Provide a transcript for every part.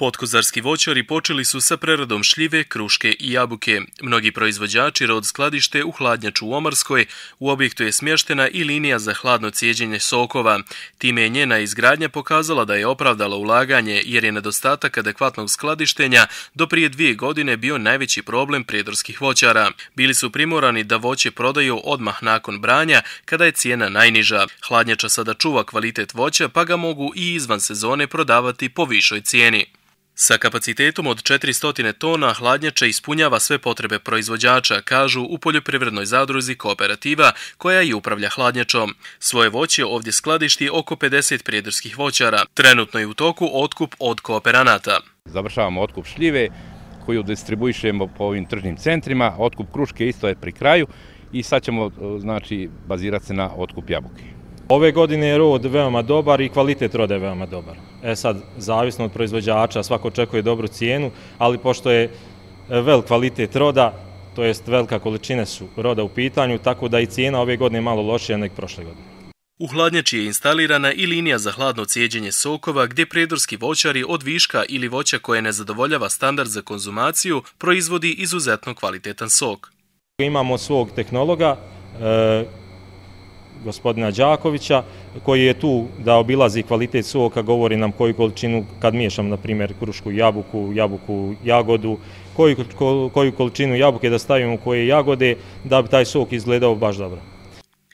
Potkozarski voćari počeli su sa preradom šljive, kruške i jabuke. Mnogi proizvođači rod skladište u hladnjaču u Omarskoj. U objektu je smještena i linija za hladno cijeđenje sokova. Time je njena izgradnja pokazala da je opravdala ulaganje jer je nedostatak adekvatnog skladištenja do prije 2 godine bio najveći problem prijedorskih voćara. Bili su primorani da voće prodaju odmah nakon branja kada je cijena najniža. Hladnjača sada čuva kvalitet voća pa ga mogu i izvan sezone prodavati po višoj cijeni. Sa kapacitetom od 400 tona hladnjača ispunjava sve potrebe proizvođača, kažu u poljoprivrednoj zadruzi Kooperativa koja i upravlja hladnjačom. Svoje voće ovdje skladišti oko 50 prijedorskih voćara. Trenutno je u toku otkup od kooperanata. Završavamo otkup šljive koju distribuišemo po ovim tržnim centrima. Otkup kruške isto je pri kraju i sad ćemo bazirati se na otkup jabuke. Ove godine je rod veoma dobar i kvalitet roda je veoma dobar. Sad, zavisno od proizvođača, svako očekuje dobru cijenu, ali pošto je velik kvalitet roda, to jest velika količine su roda u pitanju, tako da i cijena ove godine je malo lošija nego prošle godine. U hladnjači je instalirana i linija za hladno cijeđenje sokova gdje prijedorski voćari od viška ili voća koje ne zadovoljava standard za konzumaciju proizvodi izuzetno kvalitetan sok. Imamo svog tehnologa, gospodina Đakovića, koji je tu da obilazi kvalitet soka, govori nam koju količinu, kad miješam na primjer krušku jabuku, jagodu, koju količinu jabuke da stavimo u koje jagode, da bi taj sok izgledao baš dobro.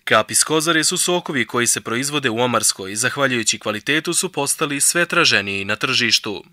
Kap iz kozare su sokovi koji se proizvode u Omarskoj i zahvaljujući kvalitetu su postali sve traženiji na tržištu.